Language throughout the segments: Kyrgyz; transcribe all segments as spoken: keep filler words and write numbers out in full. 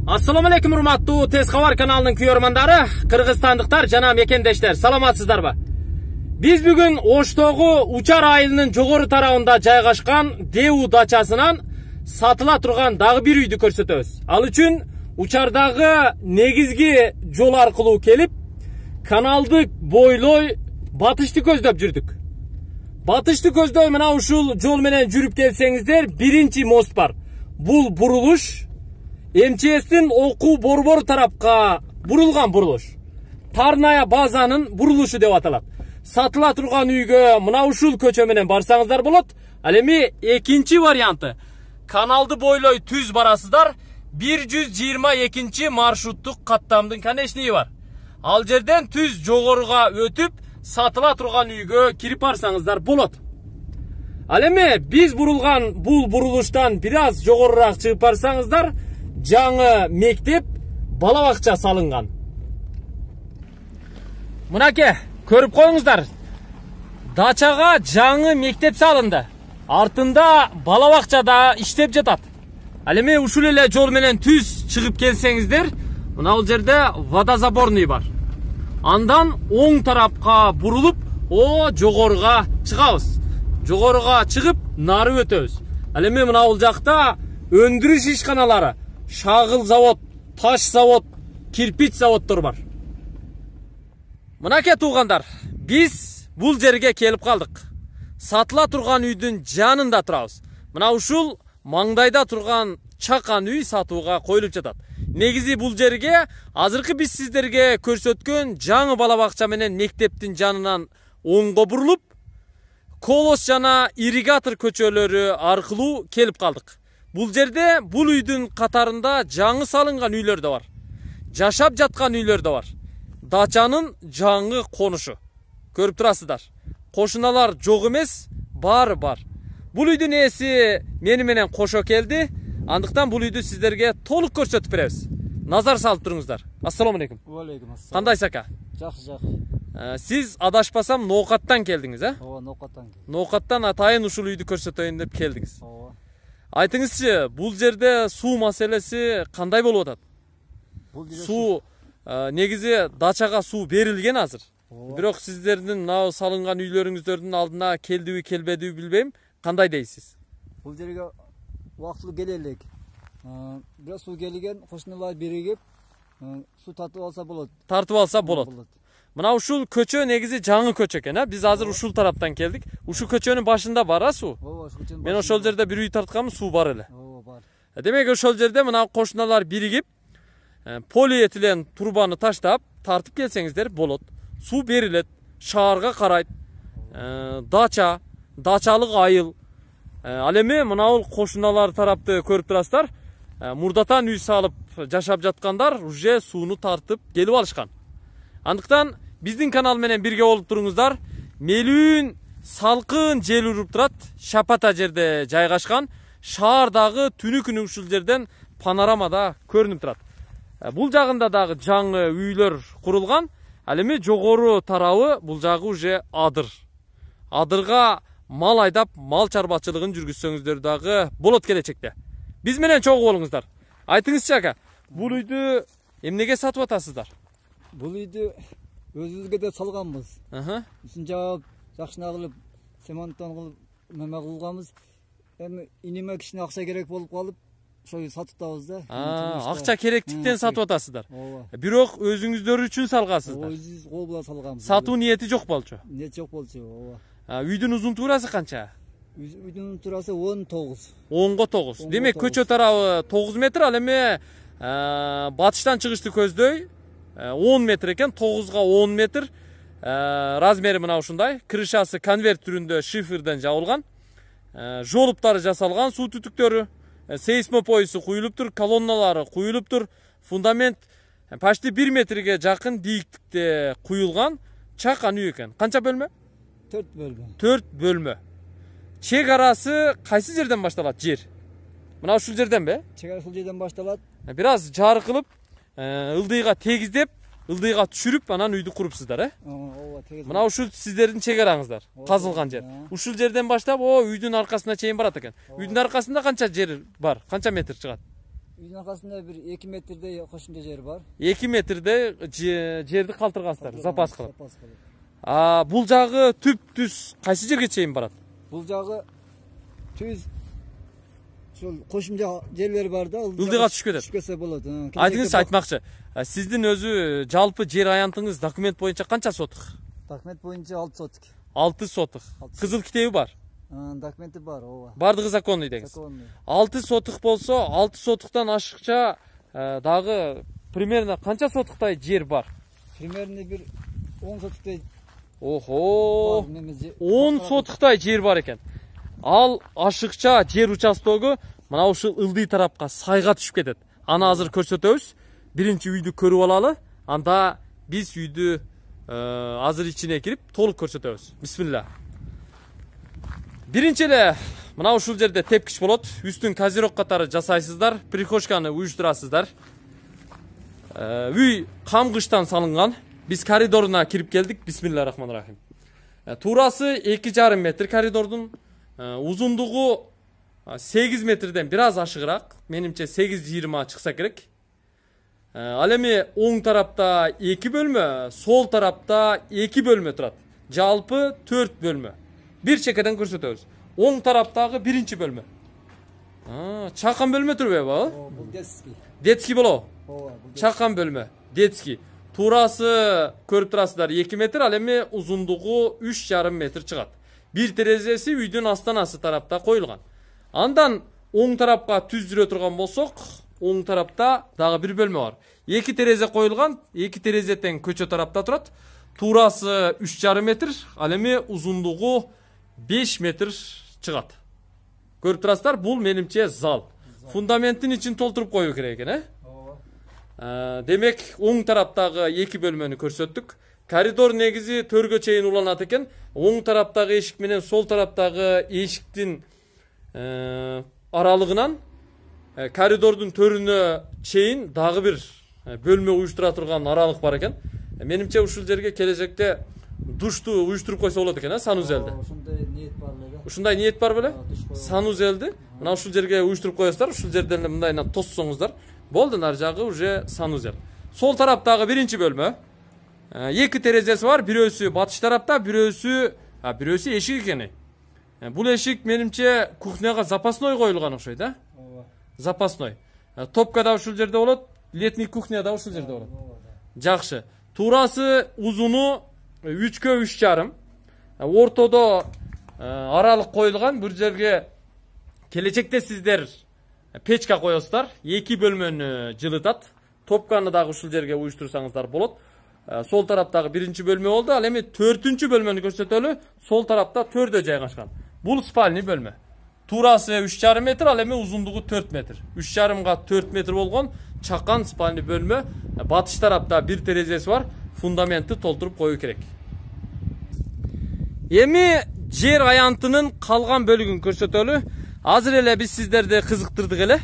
Assalomu alaykum урматтуу Tez Xabar kanalынын көрөрмандары, кыргызстандыктар жана мекендештер, саламатсыздарбы? Биз бүгүн Оштогу Учар айылынын жогору тарабында жайгашкан Деу дачасынан сатыла турган дагы бир үйдү көрсөтөбүз. Ал үчүн Учардагы негизги жол аркылуу келип, каналды бойлой батышты көздөп жүрдүк. Батышты көздөй мына ушул жол менен жүрүп келсеңиздер, биринчи мост бар. Бул бурулуш эм че эстин окуу борбор тарапка бурулган бурулуш. Тарная базанын бурулушу деп аталат. Сатыла турган үйгө мына ушул көчө менен барсаңыздар болот. Ал эми экинчи варианты. Каналды бойлой түз барасыздар. бир жүз жыйырма экинчи маршруттук каттамдын конечниги бар. Ал жерден түз жогоруга өтүп, сатыла турган үйгө кирип барсаңыздар болот. Ал эми биз бурулган бул бурулуштан бир аз жогорураак чыгып барсаңыздар, жаңы мектеп, бала бакча салынган. Мынаке, көрүп коюңуздар. Дачага жаңы мектеп салынды. Артында бала бакча да иштеп жатат. Ал эми ушул эле жол менен түз чыгып келсеңиздер, мына бул жерде водозаборный бар. Андан оң тарапка бурулуп, о жогоруга чыгабыз. Жогоруга чыгып, нары өтөбүз. Ал эми мына бул жакта өндүрүш ишканалары, шагыл завод, таш завод, кирпич заводдор бар. Мынаке туугандар, биз бул жерге келип калдык. Сатыла турган үйдүн жанында турабыз. Мына ушул маңдайда турган чакан үй сатууга коюлуп жатат. Негизи бул жерге азыркы биз сиздерге көрсөткөн жаңы бала бакча менен мектептин жанынан оңго бурулуп, Колос жана Ирригатор көчөлөрү аркылуу келип калдык. Бул жерде бул үйдүн катарында жаңы салынган үйлөр да бар. Жашап жаткан үйлөр да бар. Дачанын жаңы конушу. Көрүп турасыздар. Кошуналар жок эмес, баары бар. Бул үйдүн ээси мени менен кошо келди. Андыктан бул үйдү сиздерге толук көрсөтүп беребиз. Назар салып туруңуздар. Ассаламу алейкум. Алейкум ассалам. Кандайсыз ака? Жакшы, жакшы. Сиз адашпасам Ноокаттан келдиңиз, э? Ооба, Ноокаттан келдим. Ноокаттан атайын ушул үйдү көрсөтөйүн деп келдиңиз. Ооба. Айтыңызчы, бул жерде суу маселеси кандай болуп атат? Бул жерде Суу негизи дачага суу берилген азыр. Бирок сиздердин мына салынган үйлөрүңүздөрдүн алдына келдиби, келбедиби билбейм. Кандай дейсиз? Бул жерге убактылуу келе элек. Бирок суу келген, кошуналар биригип, суу тартып алса болот. Тартып алса болот. Мына ушул көчө негизи жаңы көчө экен, а? Биз азыр ушул тараптан келдик. Ушул көчөнүн башында бар а суу? Ооба, ушул көчөнүн. Мен ошол жерде бир үй тартканмын, суу бар эле. Ооба, бар. Демек ошол жерде мына кошуналар биригип, полиэтилен турбаны таштап, тартып келсеңиздер болот. Суу берилет, шаарга карайт. Дача, дачалык айыл. Ал эми мына бул кошуналар тарапты көрүп турасыздар. Мурдатан үй салып жашап жаткандар уже сууну тартып келип алышкан. Андыктан биздин канал менен бирге болуп туруңуздар. Мелүүн салкын жел уруп турат, шапата жерде жайгашкан. Шаардагы түнү күнү ушул жерден панорамада көрүнүп турат. Бул жагында дагы жаңы үйлөр курулган. Ал эми жогору тарабы бул жагы уже адыр. Адырга мал айдап, мал чарбачылыгын жүргүзсөңүздөр дагы болот келечекте. Биз менен чогуу болуңуздар. Айтыңызчы ака, бул үйдү эмнеге сатып атасыздар? Бул үйдү өзүбүзгө деп салганбыз. Үстүн жаап, жакшына кылып, цементтон кылып, неме кылганбыз. Эми иниме кичине акча керек болуп калып, ошол сатып атабыз да. Акча керектиктен сатып атасыздар. Бирок өзүңүздөр үчүн салгансыздар. Өзүбүз кол менен салганбыз. Сатуу ниети жок болчу. Ниет жок болчу, ооба. Үйдүн узун туурасы канча? Үйдүн туурасы он тогуз. онго тогуз. Демек көчө тарабы тогуз метр, ал эми батыштан чыгышты көздөй он метр экен, тогузга он метр. Размери мына ушундай. Крышасы конверт түрүндө шиферден жабылган. Жолуптары жасалган, суу түтүктөрү, сейсмопоюсу куюлуптур, колонналары куюлуптур. Фундамент почти бир метрге жакын бийиктикте куюлган чакан үй экен. Канча бөлмө? төрт бөлмө. төрт бөлмө. Чек арасы кайсы жерден башталат жер? Мына ушул жерден бе? Чек арасы ушул жерден башталат. Бир аз жар кылып, ылдыйга тегиздеп, ылдыйга түшүрүп, анан үйдү курупсуздар, э? Ооба, тегиз. Мына ушул сиздердин чек араңыздар, казылган жер. Ушул жерден баштап, о, үйдүн аркасына чейин барат экен. Үйдүн аркасында канча жер бар? Канча метр чыгат? Үйдүн аркасында бир эки метрдей кошумча жер бар. эки метрдей жерди калтыргансыздар, запас кылып. А бул жагы түп түз кайсы жерге чейин барат? Бул жагы түз ошол кошумча жерлер бар да, ылдыйга түшүп кетет. Түшүп кетсе болот. Айтыңызчы, айтмакчы. Сиздин өзү жалпы жер аянтыңыз документ боюнча канча сотук? Документ боюнча алты сотук. алты сотук. Кызыл китеби бар? Документи бар, ооба. Бардыгы законный деңиз. Законный. алты сотук болсо, алты сотуктан ашыкча дагы примерно канча сотуктай жер бар? Примерно бир он сотуктай. Охо. он сотуктай жер бар экен. Ал ашыкча жер участогу мына ушул ылдый тарапка сайга түшүп кетет. Аны азыр көрсөтөбүз. Биринчи үйдү көрүп алалы, анда биз үйдү азыр ичине кирип толук көрсөтөбүз. Бисмилла. Биринчи эле мына ушул жерде тепкич болот. Үстүн козирок катары жасайсыздар, прихожканы уюштурасыздар. Үй камгыштан салынган. Биз коридоруна кирип келдик. Бисмиллахиррахманиррахим. Туурасы эки жарым метр коридордун, узундугу сегиз метрден бир аз ашыгыраак. Менимче сегиз жыйырма чыкса керек. Ал эми оң тарапта эки бөлмө, сол тарапта эки бөлмө турат. Жалпы төрт бөлмө. Бир чекеден көрсөтөбүз. Оң тараптагы биринчи бөлмө. Чакан бөлмө турбайбы? Бул детский. Детский болобу? Ооба. Чакан бөлмө, детский. Туурасы көрүп турасыздар эки метр, ал эми узундугу үч жарым метр чыгат. Бир терезеси үйдүн астанасы тарапта коюлган. Андан оң тарапка түз жүрө турган болсок, оң тарапта дагы бир бөлмө бар. Эки терезе коюлган, эки терезе тең көчө тарапта турат. Туурасы үч жарым метр, ал эми узундугу беш метр чыгат. Көрүп турасыздар, бул менимче зал. Фундаментин ичин толтуруп коюу керек экен, э? Ооба. Демек, оң тараптагы эки бөлмөнү көрсөттүк. Коридор негизи төргө чейин уланат экен. Оң тараптагы эшик менен сол тараптагы эшиктин аралыгынан коридордун төрүнө чейин дагы бир бөлмө уюштура турган аралык бар экен. Менимче ушул жерге келечекте душту уюштуруп койсо болот экен, э, санузелди. Ушундай ниет бар беле. Ушундай ниет бар беле? Санузелди мына ушул жерге уюштуруп коесуздар, ушул жерден эле мындайынан тоссоңуздар. Болду, нар жагы уже санузел. Сол тараптагы биринчи бөлмө. Эки терезеси бар, бирөөсү батыш тарапта, бирөөсү, а бирөөсү эшик экен. Бул эшик менимче кухняга запасной коюлган окшойт, а? Ооба. Запасной. Топка да ушул жерде болот, летний кухня да ушул жерде болот. Жакшы. Туурасы узуну үчкө үч жарым. Ортодо аралык коюлган. Бул жерге келечекте сиздер печка коесуздар, эки бөлмөнү жылытат. Топканы дагы ушул жерге уюштурсаңыздар болот. Сол тараптагы биринчи бөлмө болду. Ал эми төртүнчү бөлмөнү көрсөтөлү. Сол тарапта төрдө жайгашкан. Бул спальный бөлмө. Туурасы үч жарым метр, ал эми узундугу төрт метр. үч жарымга төрт метр болгон чакан спальный бөлмө. Батыш тарапта бир терезеси бар. Фундаментти толтуруп коюу керек. Эми жер аянтынын калган бөлүгүн көрсөтөлү. Азыр эле биз сиздерди кызыктырдык эле.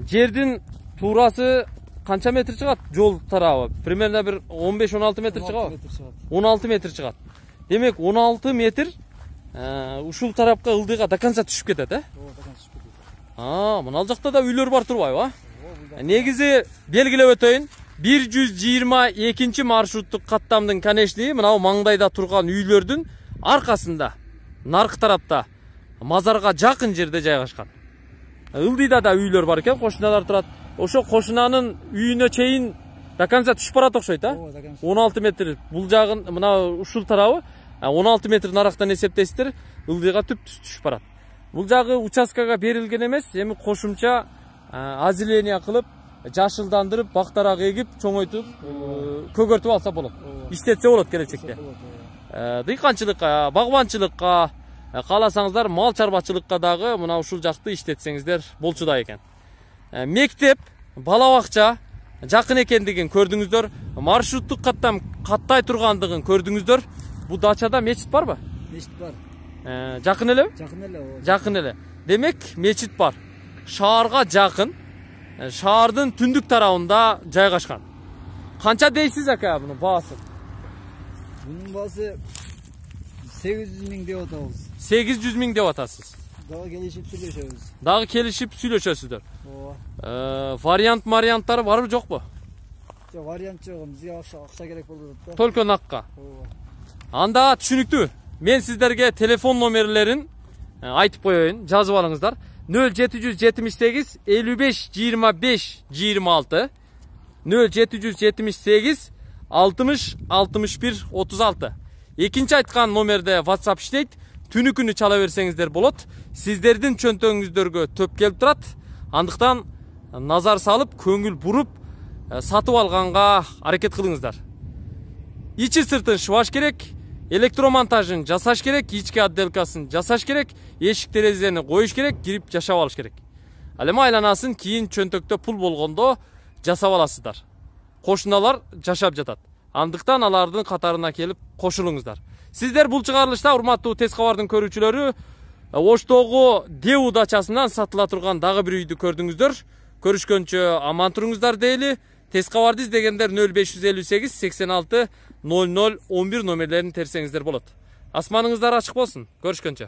Жердин туурасы канча метр чыгат? Жол тарабы примерно бир он беш он алты метр чыгабы? он алты метр чыгат. Демек он алты метр ушул тарапка ылдыйга до конца түшүп кетет, э? Ооба, до конца түшүп кетет. А, мына ал жакта да үйлөр бар турбайбы, а? Негизи белгилеп өтөйүн. бир жүз жыйырма экинчи маршруттук каттамдын конечниги мына маңдайда турган үйлөрдүн аркасында, наркы тарапта, мазарга жакын жерде жайгашкан. Ылдыйда да үйлөр бар экен, кошуналар турат. Ошо кошунанын үйүнө чейин до конца түшүп барат окшойт, а? он алты метр бул жагын, мына ушул тарабы он алты метр нарактан эсептейсиздер, ылдыйга түп түшүп барат. Бул жагы участкага берилген эмес, эми кошумча озеление кылып, жашылдандырып, бактарак эгип, чоңойтуп, көгөртүп алса болот. Иштетсе болот келечекте. Дыйканчылыкка, багбанчылыкка, кааласаңыздар мал чарбачылыкка дагы мына ушул жакты иштетсеңиздер болчудай экен. Мектеп, бала бакча жакын экендигин көрдүңүздөр. Маршруттук каттам каттай тургандыгын көрдүңүздөр. Бу дачада мечит барбы? Мечит бар. Жакын элеби? Жакын эле, ооба. Жакын эле. Демек, мечит бар. Шаарга жакын. Шаардын түндүк тарабында жайгашкан. Канча дейсиз ака мунун баасы? Мунун баасы сегиз жүз миң деп атабыз. сегиз жүз миң деп атасыз. Дагы келишип сүйлөшөбүз. Дагы келишип сүйлөшөсүздөр. Ооба. Вариант марианттары барбы жокпу? Жок, вариант жок. Бизге акча керек болуп атат да. Только накка. Ооба. Анда түшүнүктүү. Мен сиздерге телефон номерлерин айтып коеюн, жазып алыңыздар. нөл жети жүз жетимиш сегиз элүү беш жыйырма беш жыйырма алты, нөл жети жүз жетимиш сегиз алтымыш алтымыш бир отуз алты. Экинчи айткан номерде WhatsApp иштейт. Түнү күнү чала берсеңиздер болот. Сиздердин чөнтөгүңүздөргө төп келип турат. Андыктан назар салып, көңүл буруп, сатып алганга аракет кылыңыздар. Ичи сыртын шыбаш керек, электромонтажын жасаш керек, ички отделкасын жасаш керек, эшик терезени коюш керек, кирип жашап алыш керек. Ал эми айланасын кийин чөнтөктө пул болгондо жасап аласыздар. Кошуналар жашап жатат. Андыктан алардын катарына келип кошулуңуздар. Сиздер бул чыгарылышта урматтуу Тез кабардын көрүүчүлөрү Оштогу Деу дачасынан сатыла турган дагы бир үйдү көрдүңүздөр. Көрүшкөнчө аман туруңуздар дейли. Тез кабарды издегендер нөл беш жүз элүү сегиз сексен алты ноль ноль он бир номерлерин терсеңиздер болот. Асманыңыздар ачык болсун. Көрүшкөнчө.